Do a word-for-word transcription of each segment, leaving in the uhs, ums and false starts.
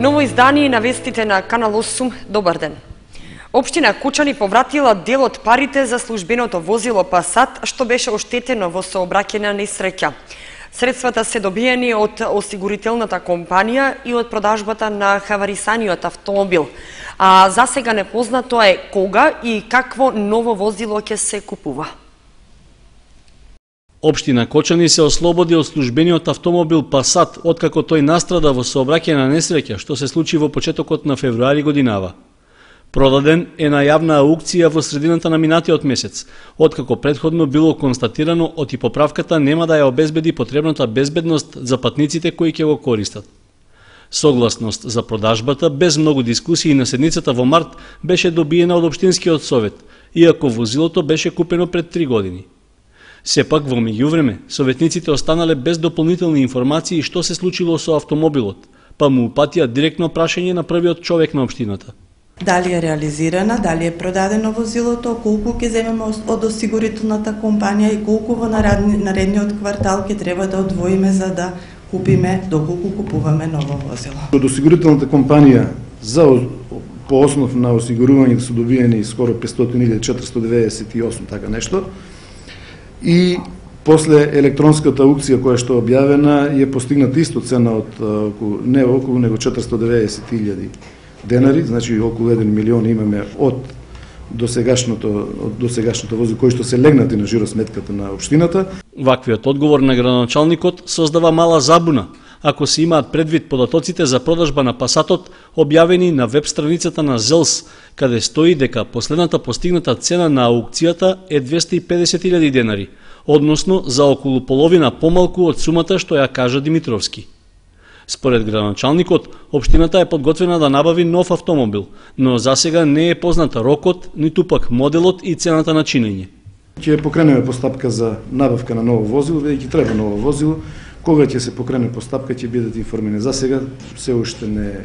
Ново издание на вестите на Канал осум. Добар ден. Општина Кучани повратила дел од парите за службеното возило Пасат, што беше оштетено во сообраќајна несреќа. Средствата се добиени од осигурителната компанија и од продажбата на хаварисаниот автомобил. А за сега непознато е кога и какво ново возило ќе се купува. Општина Кочани се ослободи од службениот автомобил Пасат, откако тој настрада во сообраќајна несреќа, што се случи во почетокот на февруари годинава. Продаден е на јавна аукција во средината на минатиот месец, откако претходно било констатирано од и поправката нема да ја обезбеди потребната безбедност за патниците кои ќе го користат. Согласност за продажбата без многу дискусии на седницата во март беше добиена од општинскиот совет, иако возилото беше купено пред три години. Сепак во меѓувреме советниците останале без дополнителни информации што се случило со автомобилот, па му упатија директно прашање на првиот човек на општината. Дали е реализирана, дали е продадено возилото, колку ќе земеме од осигурителната компанија и колку во наредниот квартал ќе треба да одвоиме за да купиме, доколку купуваме ново возило. Од осигурителната компанија за по основ на осигурување се добиени скоро петстотини илјади четиристотини деведесет и осум, така нешто. И после електронската аукција која што е објавена е постигната исто цена од околу, не околу него четиристотини деведесет илјади денари, значи околу еден милион имаме од досегашното од досегашното возило кои што се легнати на жиросметката на општината. Ваквиот одговор на градоначалникот создава мала забуна, ако се имаат предвид податоците за продажба на Пасатот објавени на веб страницата на ЗЕЛС, каде стои дека последната постигната цена на аукцијата е двесте и педесет илјади денари, односно за околу половина помалку од сумата што ја кажа Димитровски. Според градоначалникот, општината е подготвена да набави нов автомобил, но засега не е позната рокот, ниту пак моделот и цената на чинење. Ќе покренеме постапка за набавка на ново возило, бидејќи треба ново возило. Кога ќе се покрене постапка ќе бидат информирани. За сега се уште не е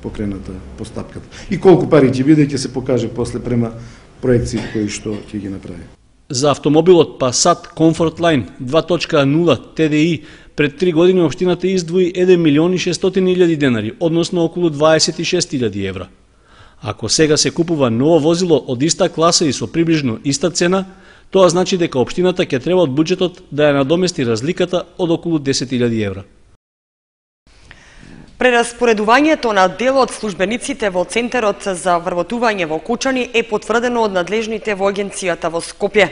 покрената постапката. И колку пари ќе биде ќе се покаже после према проекции кои што ќе ги направи. За автомобилот Passat Comfort Line два точка нула Т Д И пред три години општината издвои еден милион и шестстотини илјади денари, односно околу дваесет и шест илјади евра. Ако сега се купува ново возило од иста класа и со приближно иста цена, тоа значи дека општината ќе треба од буџетот да ја надомести разликата од околу десет илјади евра. Прераспоредувањето на дел од службениците во Центарот за вработување во Кучани е потврдено од надлежните во агенцијата во Скопје.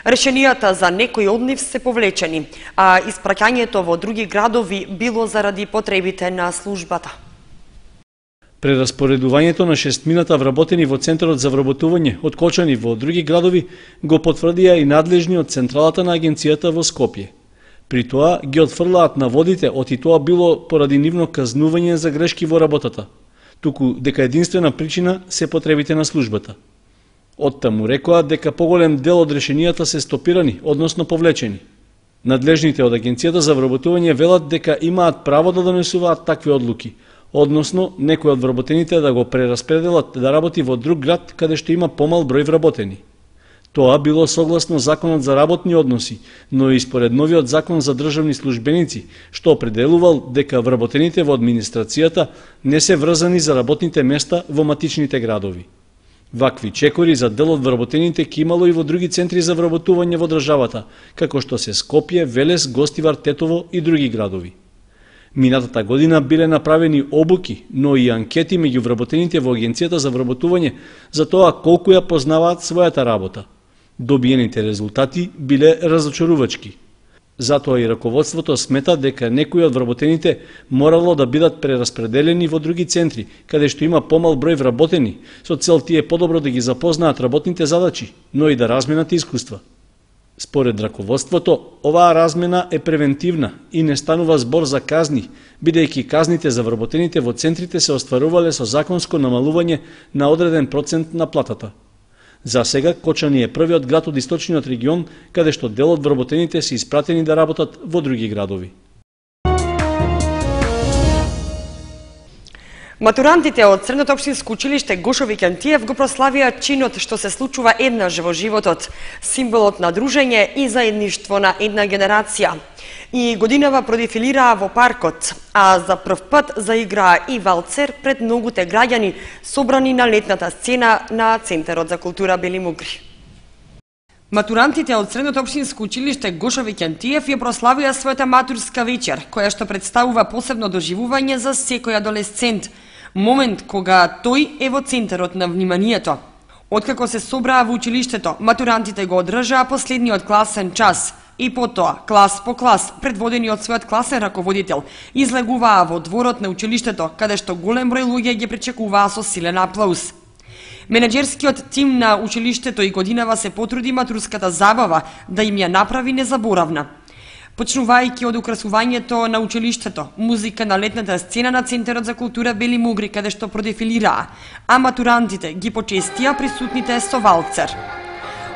Решенијата за некои од нив се повлечени, а испраќањето во други градови било заради потребите на службата. Прераспоредувањето на шестмината вработени во Центарот за вработување од Кочани во други градови го потврдија и надлежни од Централата на агенцијата во Скопје. При тоа ги отфрлаат наводите оти тоа било поради нивно казнување за грешки во работата, туку дека единствена причина се потребите на службата. Оттаму рекоа дека поголем дел од решенијата се стопирани, односно повлечени. Надлежните од агенцијата за вработување велат дека имаат право да донесуваат такви одлуки, односно некој од вработените да го прераспределат да работи во друг град каде што има помал број вработени. Тоа било согласно Законот за работни односи, но и според новиот Закон за државни службеници, што определувал дека вработените во администрацијата не се врзани за работните места во матичните градови. Вакви чекори за дел од вработените ќе имало и во други центри за вработување во државата, како што се Скопје, Велес, Гостивар, Тетово и други градови. Минатата година биле направени обуки, но и анкети меѓу вработените во агенцијата за вработување за тоа колку ја познаваат својата работа. Добиените резултати биле разочарувачки. Затоа и раководството смета дека некои од вработените морало да бидат прераспределени во други центри, каде што има помал број вработени, со цел тие подобро да ги запознаат работните задачи, но и да разменат искуства. Според раководството, оваа размена е превентивна и не станува збор за казни, бидејќи казните за вработените во центрите се остварувале со законско намалување на одреден процент на платата. За сега Кочани е првиот град од источниот регион каде што дел од вработените се испратени да работат во други градови. Матурантите од Средното општинско училиште Гошо Викентиев го прославија чинот што се случува еднаш во животот, символот на дружење и заедништво на една генерација. И годинава продефилираа во паркот, а за прв пат заиграа и валцер пред многуте граѓани собрани на летната сцена на Центарот за култура Бели Мугри. Матурантите од Средното општинско училиште Гошо Викентиев ја прославија својата матурска вечер, која што представува посебно доживување за секој адолесцент, момент кога тој е во центарот на вниманието. Откако се собраа во училиштето, матурантите го одржаа последниот класен час и потоа, клас по клас, предводени од својот класен раководител, излегуваа во дворот на училиштето, каде што голем број луѓе ги пречекуваа со силен аплауз. Менеджерскиот тим на училиштето и годинава се потруди матурската забава да им ја направи незаборавна. Почнувајќи од украсувањето на училиштето, музика на летната сцена на Центарот за култура Бели Мугри, каде што продефилираа, а матурантите ги почестија присутните со валцер.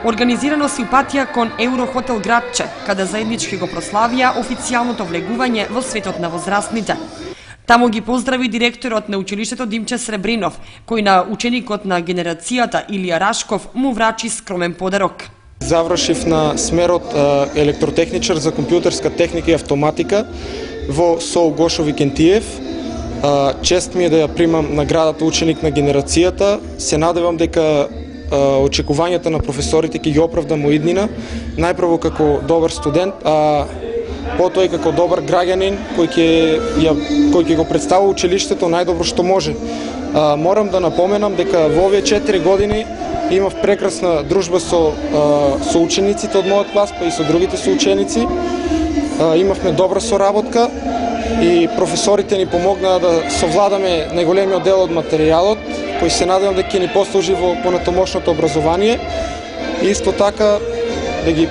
Организирано симпатија кон Еврохотел Градче, каде заеднички го прославија официјалното влегување во светот на возрастните. Таму ги поздрави директорот на училиштето Димче Сребринов, кој на ученикот на генерацијата Илија Рашков му врачи скромен подарок. Завршив на смерот електротехничар за компјутерска техника и автоматика во СОУ Гошо Викентиев. Чест ми е да ја примам наградата ученик на генерацијата. Се надевам дека очекувањата на професорите ќе ги оправдам во иднина, најпрво како добар студент, а потоа и како добар граѓанин кој ќе ја кој ќе го представува училиштето најдобро што може. А, морам да напоменам дека во овие четири години имав прекрасна дружба со а, со учениците од мојот клас, па и со другите соученици. А, имавме добра соработка и професорите ни помогнаа да совладаме најголемиот дел од материјалот, кој се надевам дека ќе ни послужи во понатомошното образование. И исто така да ги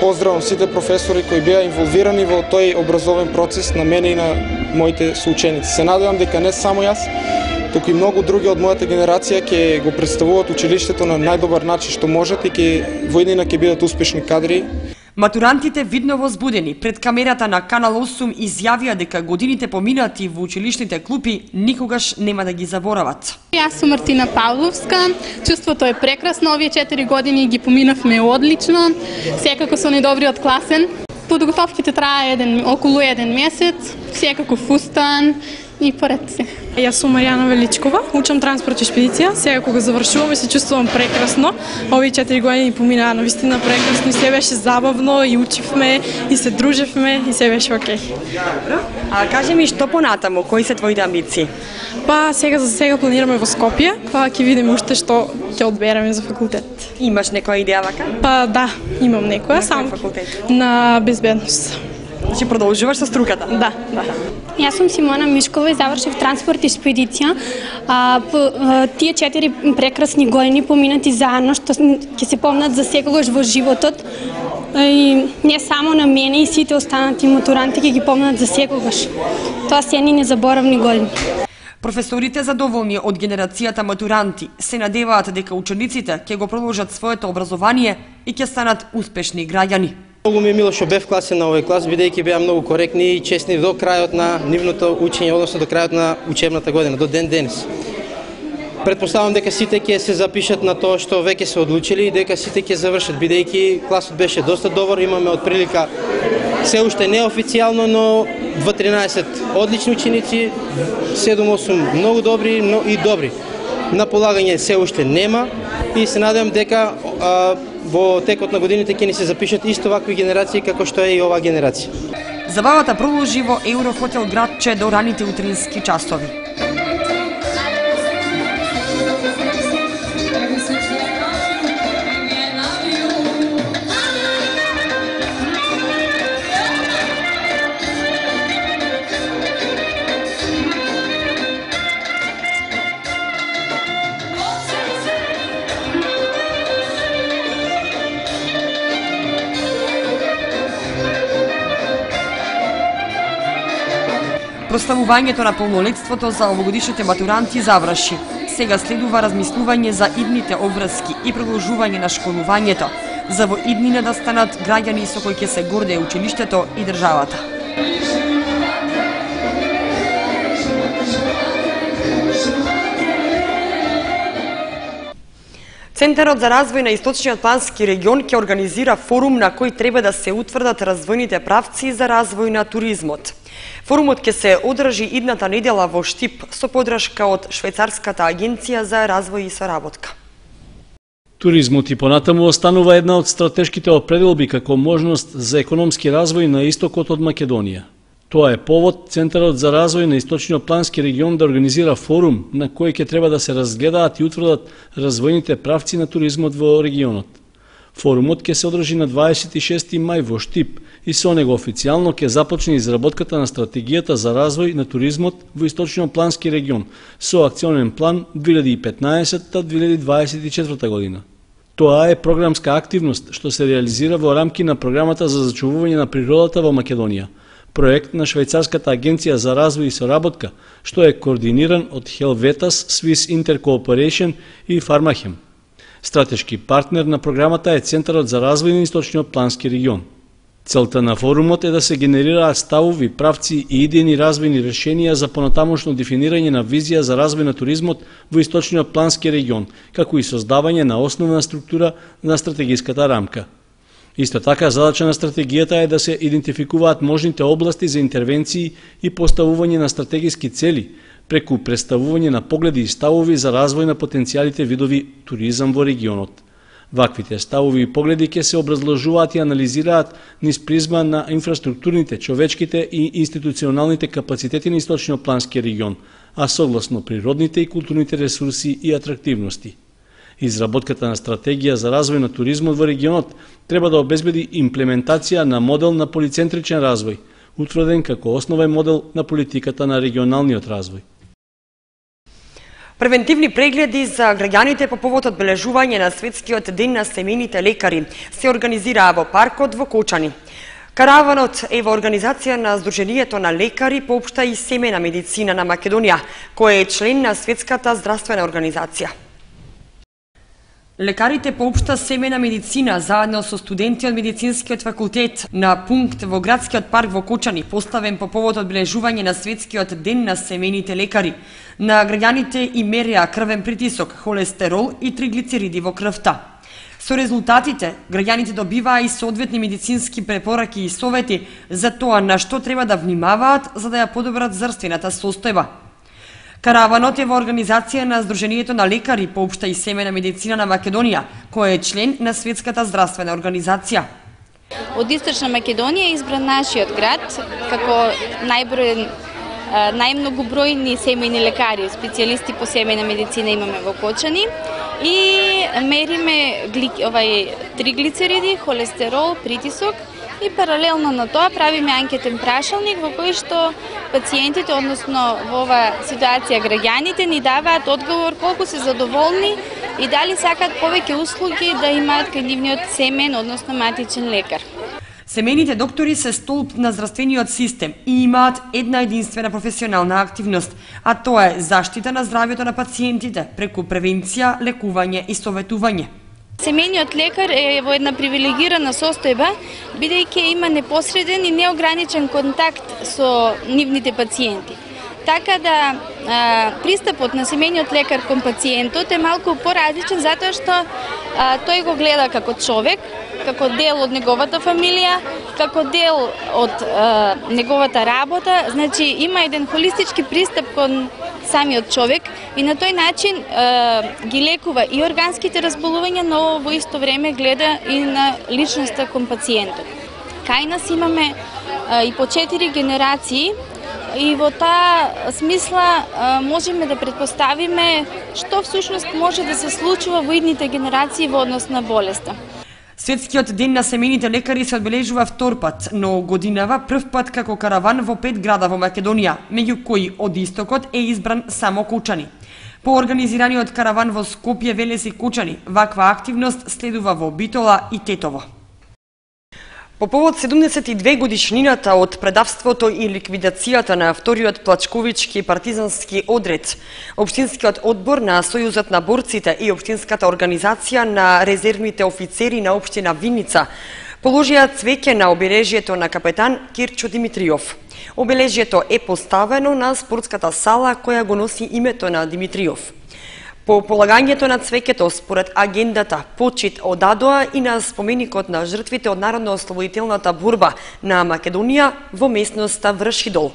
поздравам сите професори кои беа инволвирани во тој образовен процес на мене и на моите соученици. Се надевам дека не само јас, туку и многу други од мојата генерација ќе го представуваат училиштето на најдобар начин што можат и ќе во иднина ќе бидат успешни кадри. Матурантите видно возбудени пред камерата на Канал осум изјавија дека годините поминати во училишните клупи никогаш нема да ги заборават. Јас сум Мартина Павловска. Чувството е прекрасно, овие четири години ги поминавме одлично, секако со најдобриот класен. Подготовките трае еден, околу еден месец, секако фустан и поред се. Јас сум Маријана Величкова, учам транспорт и шпедиција. Сега кога завршувам и се чувствувам прекрасно. Овие четири години поминаа навистина прекрасно и се беше забавно и учивме и се дружевме и се беше окей. Добро. А кажи ми што понатаму, кои се твоите амбиции? Па сега за сега планираме во Скопје, па ќе видиме уште што ќе одбереме за факултет. Имаш некоја идеја вака? Па да, имам некоја, на само факултет? На безбедност. Значи продолжуваш со струката? Да, да. Јас сум Симона Мишкова и завршив транспорт и шпедиција. А, по, а, тие четири прекрасни години поминати заедно, што ќе се помнат за секогаш во животот. И не само на мене и сите останати матуранти ќе ги помнат за секогаш. Тоа се едни незаборавни години. Професорите задоволни од генерацијата матуранти се надеваат дека учениците ќе го продолжат своето образование и ќе станат успешни граѓани. Многу ми е мило што бев класен на овој клас, бидејќи беа многу коректни и честни до крајот на нивното учење, односно до крајот на учебната година, до ден денес. Претпоставам дека сите ќе се запишат на тоа што веќе се одлучили и дека сите ќе завршат, бидејќи класот беше доста добар, имаме од прилика се уште неофицијално, но две тринаесет одлични ученици, седум осум многу добри но и добри. На полагање се уште нема и се надевам дека а, во текот на годините ќе ни се запишат исто вакви генерации како што е и оваа генерација. Забавата продолжи во Еврохотел Градче до раните утрински часови. Прославувањето на полнолетството за овогодишните матуранти заврши. Сега следува размислување за идните обврски и продолжување на школувањето, за во иднина да станат граѓани со кои ќе се гордее училиштето и државата. Центарот за развој на Источниот плански регион ќе организира форум на кој треба да се утврдат развојните правци за развој на туризмот. Форумот ќе се одржи идната недела во Штип со поддршка од Швајцарската агенција за развој и соработка. Туризмот и понатаму останува една од стратешките определби како можност за економски развој на истокот од Македонија. Тоа е повод Центарот за развој на Источниот плански регион да организира форум на кој ќе треба да се разгледаат и утврдат развојните правци на туризмот во регионот. Форумот ќе се одржи на дваесет и шести мај во Штип и со него официјално ќе започне изработката на стратегијата за развој на туризмот во Источниот плански регион со акционен план две илјади и петнаесетта до две илјади дваесет и четврта година. Тоа е програмска активност што се реализира во рамки на програмата за зачувување на природата во Македонија, проект на Швајцарската агенција за развој и соработка, што е координиран од Helvetas, Swiss Intercooperation и Фармахем. Стратешки партнер на програмата е Центарот за развој на Источниот плански регион. Целта на форумот е да се генерираат ставови, правци и идејни развојни решенија за понатамошно дефинирање на визија за развој на туризмот во Источниот плански регион, како и создавање на основна структура на стратегиската рамка. Исто така, задача на стратегијата е да се идентификуваат можните области за интервенции и поставување на стратегиски цели, преку представување на погледи и ставови за развој на потенцијалите видови туризам во регионот. Ваквите ставови и погледи ќе се образложуваат и анализираат низ призма на инфраструктурните, човечките и институционалните капацитети на Источниот плански регион, а согласно природните и културните ресурси и атрактивности. Изработката на стратегија за развој на туризмот во регионот треба да обезбеди имплементација на модел на полицентричен развој, утврден како основен модел на политиката на регионалниот развој. Превентивни прегледи за граѓаните по повод одбележување на Светскиот ден на семејните лекари се организираа во паркот во Кочани. Караванот е во организација на Сдруженијето на лекари по општа и семејна медицина на Македонија, кој е член на Светската здравствена организација. Лекарите по општа семејна медицина заедно со студенти од медицинскиот факултет на пункт во градскиот парк во Кочани, поставен по повод одбележување на Светскиот ден на семејните лекари, на граѓаните и мереа крвен притисок, холестерол и триглицериди во крвта. Со резултатите, граѓаните добиваа и соодветни медицински препораки и совети за тоа на што треба да внимаваат за да ја подобрат здравствената состојба. Караванот е во организација на Сдруженијето на лекари по општа и семејна медицина на Македонија, кој е член на Светската здравствена организација. Од Источна Македонија е избран нашиот град како најбројен најмногобројни семејни лекари, специјалисти по семејна медицина имаме во Кочани и мериме овај триглицериди, холестерол, притисок и паралелно на тоа правиме анкетен прашалник во кој што пациентите, односно во оваа ситуација граѓаните, ни даваат одговор колку се задоволни и дали сакаат повеќе услуги да имаат кај нивниот семен, односно матичен лекар. Семејните доктори се столб на здравствениот систем и имаат една единствена професионална активност, а тоа е заштита на здравјето на пациентите преку превенција, лекување и советување. Семејниот лекар е во една привилегирана состојба, бидејќи има непосреден и неограничен контакт со нивните пациенти. Така да а, пристапот на семејниот лекар кон пациентот е малку поразличен затоа што а, тој го гледа како човек, како дел од неговата фамилија, како дел од а, неговата работа, значи има еден холистички пристап кон самиот човек и на тој начин е, ги лекува и органските разболувања, но во исто време гледа и на личноста кон пациентот. Кај нас имаме е, и по четири генерации и во таа смисла е, можеме да претпоставиме што всушност може да се случува во идните генерации во однос на болеста. Светскиот ден на семејните лекари се одбележува втор пат, но годинава прв пат како караван во пет града во Македонија, меѓу кои од истокот е избран само Кочани. По организираниот караван во Скопје, Велес и Кочани, ваква активност следува во Битола и Тетово. По повод седумдесет и две годишнината од предавството и ликвидацијата на вториот плачковички партизански одред, Општинскиот одбор на Сојузот на борците и Општинската организација на резервните офицери на Општина Виница положија цвеќе на обележјето на капетан Кирчо Димитриов. Обележјето е поставено на спортската сала која го носи името на Димитриов. По полагањето на цвеќето според агендата почит од АДОА и на споменикот на жртвите од народно-ослободителната борба на Македонија во местноста Вршидол.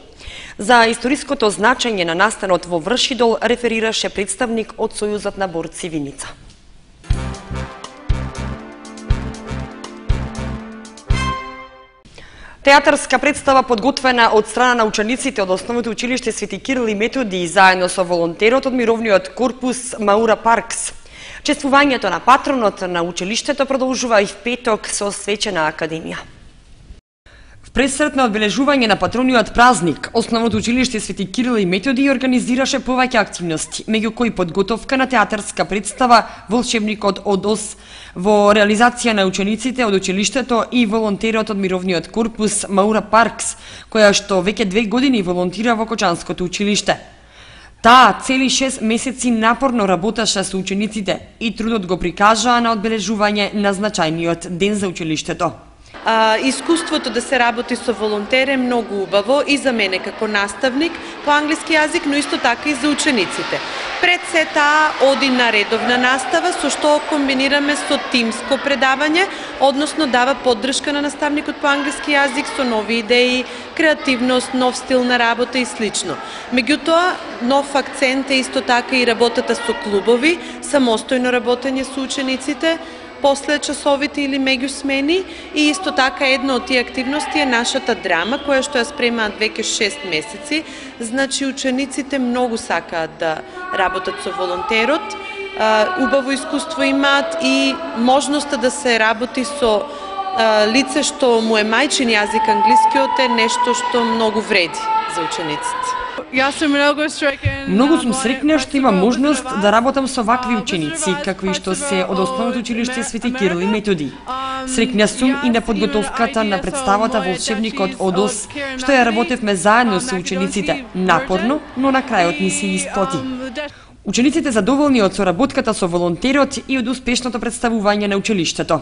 За историското значење на настанот во Вршидол реферираше представник од Сојузот на борци Виница. Театарска представа подготвена од страна на учениците од Основното училиште Свети Кирил и Методи заедно со волонтерот од мировниот корпус Маура Паркс. Чествувањето на патронот на училиштето продолжува и в петок со свечена академија. В пресрет на одбележување на патрониот празник, Основното училиште Свети Кирил и Методи организираше повеќе активности, меѓу кои подготовка на театарска представа Волшебникот од Оз во реализација на учениците од училиштето и волонтерот од мировниот корпус Маура Паркс, која што веќе две години волонтира во Кочанското училиште. Таа цели шест месеци напорно работеше со учениците и трудот го прикажаа на одбележување на значајниот ден за училиштето. А, искуството да се работи со волонтер е многу убаво и за мене како наставник по англиски јазик, но исто така и за учениците. Пред се таа оди на редовна настава, со што комбинираме со тимско предавање, односно дава поддршка на наставникот по англиски јазик со нови идеи, креативност, нов стил на работа и слично. Меѓутоа, нов акцент е исто така и работата со клубови, самостојно работење со учениците, после часовите или меѓу смени, и исто така една од тие активности е нашата драма, која што ја спремаат веќе шест месеци. Значи, учениците многу сакаат да работат со волонтерот, убаво искуство имаат и можноста да се работи со лице што му е мајчин јазик англискиот е нешто што многу вреди за учениците. Многу сум среќна што имам можност да работам со вакви ученици, какви што се од Основното училиште Свети Кирил и Методи. Среќна сум и на подготовката на представата Волшебникот од Оз, што ја работевме заедно со учениците, напорно, но на крајот ни се исплати. Учениците задоволни од соработката со волонтерот и од успешното представување на училиштето.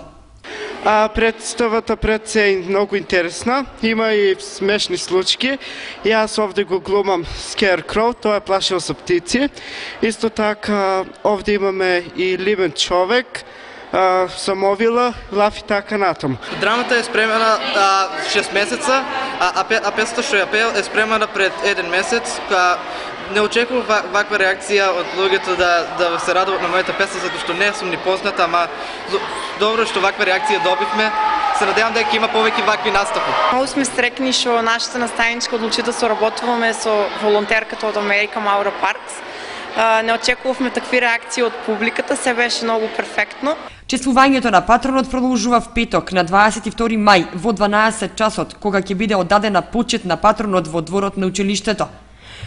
А представата пред се е многу интересна, има и смешни случаи. Јас овде го глумам Scarecrow, тоа е плашил со птици. Исто така овде имаме и Ливен човек, самовила, лафи така натаму. Драмата е спремена а, шест месеца, а, а, а песата што ја пеел е спремена пред еден месец. Ка не очекував ваква реакција од луѓето да, да се радуват на мојата песна, затоа што не сум ни позната, ама добро што ваква реакција добивме. Се надевам дека има повеќе вакви настапи. Многу сме стрекни што нашата наставничка одлучи да соработуваме со волонтерката од Америка Маура Паркс. Не очекувавме такви реакции од публиката, се беше многу перфектно. Чествувањето на патронот продолжува в петок на дваесет и втори мај во дванаесет часот, кога ќе биде оддадена почит на патронот во дворот на училиштето.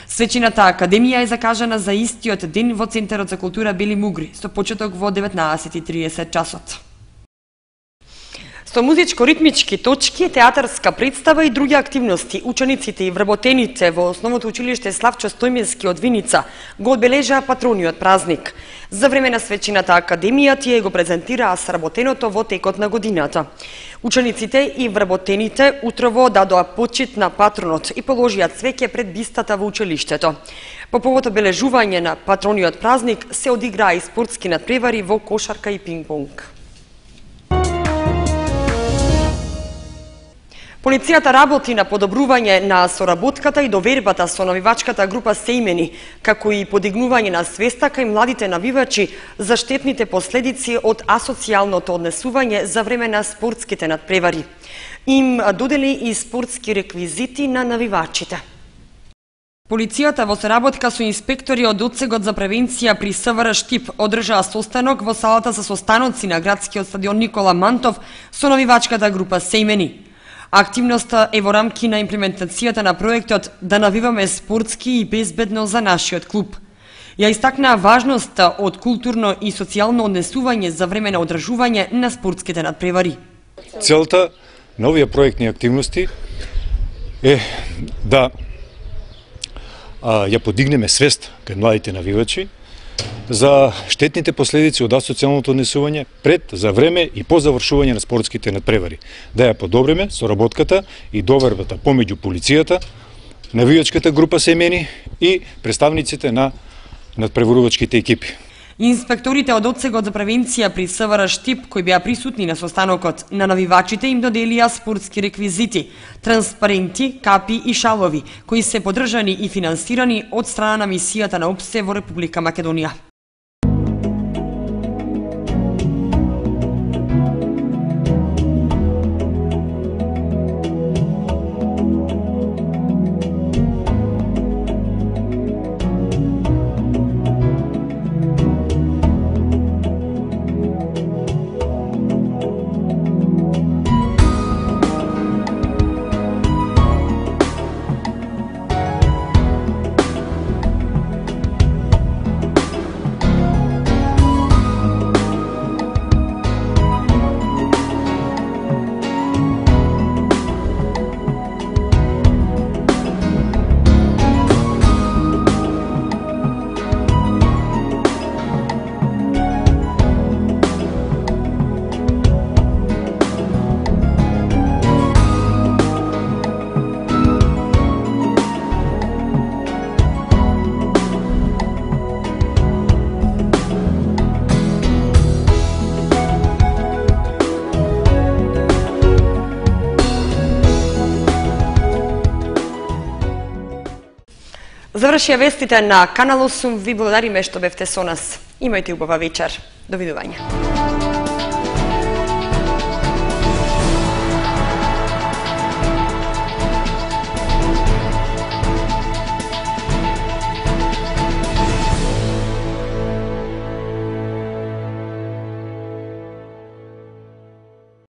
Свечената академија е закажана за истиот ден во Центарот за култура Бели Мугри, со почеток во деветнаесет и триесет часот. Со музичко-ритмички точки, театарска представа и други активности, учениците и вработените во Основното училиште Славчо Стојменски од Виница го одбележаа патрониот празник. За време на свечената академија тие го презентираа сработеното во текот на годината. Учениците и вработените утрово дадоа почит на патронот и положија цвеќе пред бистата во училиштето. По повод одбележување на патрониот празник се одиграа и спортски надпревари во кошарка и пинг-понг. Полицијата работи на подобрување на соработката и довербата со навивачката група Сејмени, како и подигнување на свеста кај младите навивачи за штетните последици од асоцијалното однесување за време на спортските надпревари. Им додели и спортски реквизити на навивачите. Полицијата во соработка со инспектори од Одсегот за превенција при СВР Штип одржаа состанок во салата за состаноци на градскиот стадион Никола Мантов со навивачката група Сејмени. Активноста е во рамки на имплементацијата на проектот да навиваме спортски и безбедно за нашиот клуб. Ја истакнаа важноста од културно и социјално однесување за време на одржување на спортските надпревари. Целта на овие проектни активности е да а, ја подигнеме свест кај младите навивачи за штетните последици од асоцијалното однесување пред, за време и по завршување на спортските надпревари. Да ја подобриме соработката и довербата помеѓу полицијата, навивачката група Сејмени и представниците на надпреварувачките екипи. Инспекторите од Одсегот за превенција при СВР Штип, кои беа присутни на состанокот, на навивачите им доделија спортски реквизити, транспаренти, капи и шалови, кои се поддржани и финансирани од страна на мисијата на ОПСЕ во Република Македонија. Завршија вестите на Канал осум. Ви благодариме што бевте со нас. Имајте убава вечер. Довидување.